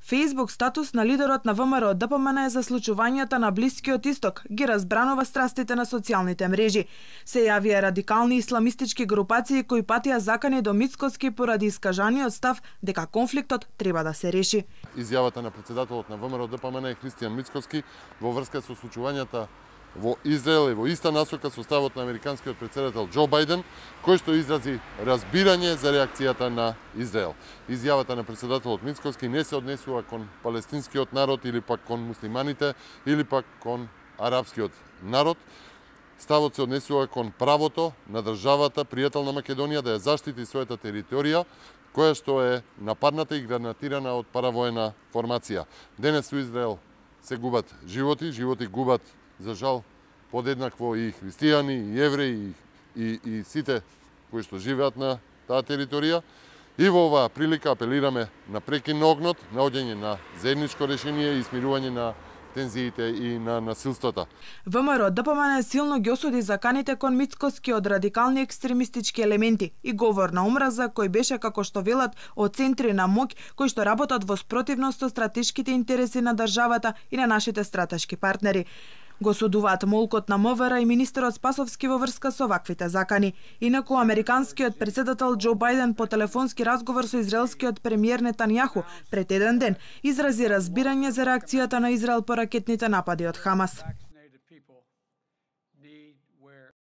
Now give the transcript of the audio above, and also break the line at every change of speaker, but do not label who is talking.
Facebook статус на лидерот на ВМРО ДПМН е за случувањата на Блискиот Исток, ги разбранува страстите на социјалните мрежи. Се јавија радикални исламистички групации кои патија закани до Мицкоски поради искажаниот став дека конфликтот треба да се реши.
Изјавата на претседателот на ВМРО ДПМН Христијан Мицкоски во врска со случувањата во Израел и во иста насока со ставот на американскиот претседател Џо Бајден, кој што изрази разбирање за реакцијата на Израел. Изјавата на претседателот Мицкоски не се однесува кон палестинскиот народ или пак кон муслиманите или пак кон арапскиот народ. Ставот се однесува кон правото на државата пријател на Македонија да ја заштити својата територија, која што е нападната и гранатирана од паравоена формација. Денес во Израел се губат животи губат за жал подеднакво и христијани, и евреи, и сите кои што живеат на таа територија. И во оваа прилика апелираме на прекин на огнот, наоѓање на заедничко решение и смирување на тензиите и на насилствата.
ВМРО ДПМН силно ги осуди заканите кон Мицкоски од радикални екстремистички елементи и говор на омраза кој беше, како што велат, од центри на моќ кои што работат во спротивност со стратешките интереси на државата и на нашите стратешки партнери. Го судуваат молкот на МВР и министерот Спасовски во врска со ваквите закани. Инаку американскиот претседател Џо Бајден по телефонски разговор со израелскиот премиер Нетањаху пред еден ден изрази разбирање за реакцијата на Израел по ракетните напади од Хамас.